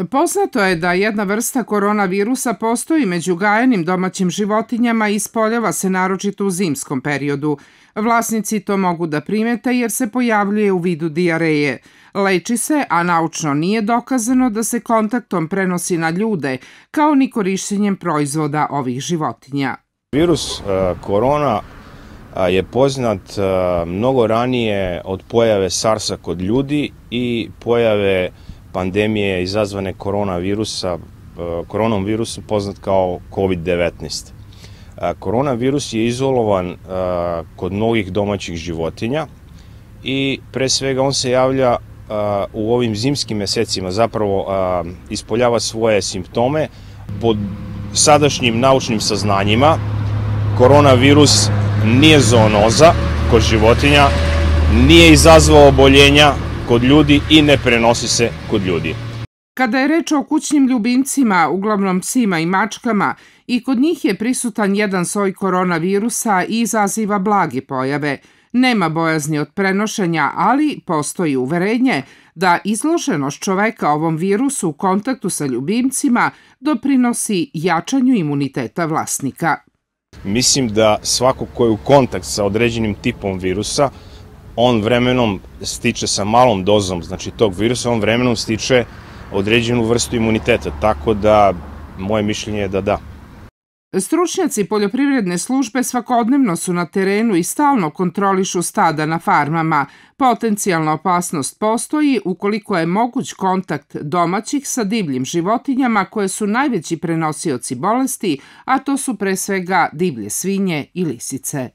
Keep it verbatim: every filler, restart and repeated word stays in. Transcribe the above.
Poznato je da jedna vrsta koronavirusa postoji među gajenim domaćim životinjama i ispoljava se naročito u zimskom periodu. Vlasnici to mogu da primete jer se pojavljuje u vidu dijareje. Leči se, a naučno nije dokazano da se kontaktom prenosi na ljude, kao ni korišćenjem proizvoda ovih životinja. Virus korona je poznat mnogo ranije od pojave SARS-a kod ljudi i pojave pandemije izazvane koronavirusa, koronom virusom poznat kao kovid devetnaest. Koronavirus je izolovan kod mnogih domaćih životinja i pre svega on se javlja u ovim zimskim mesecima, zapravo ispoljava svoje simptome. Pod sadašnjim naučnim saznanjima koronavirus nije zoonoza kod životinja, nije izazvao oboljenja kod ljudi i ne prenosi se kod ljudi. Kada je reč o kućnim ljubimcima, uglavnom psima i mačkama, i kod njih je prisutan jedan soj koronavirusa i izaziva blage pojave. Nema bojazni od prenošenja, ali postoji uverenje da izloženost čoveka ovom virusu u kontaktu sa ljubimcima doprinosi jačanju imuniteta vlasnika. Mislim da svako ko je u kontakt sa određenim tipom virusa, on vremenom stiče sa malom dozom, znači tog virusa, on vremenom stiče određenu vrstu imuniteta, tako da moje mišljenje je da da. Stručnjaci poljoprivredne službe svakodnevno su na terenu i stalno kontrolišu stada na farmama. Potencijalna opasnost postoji ukoliko je moguć kontakt domaćih sa divljim životinjama koje su najveći prenosioci bolesti, a to su pre svega divlje svinje i lisice.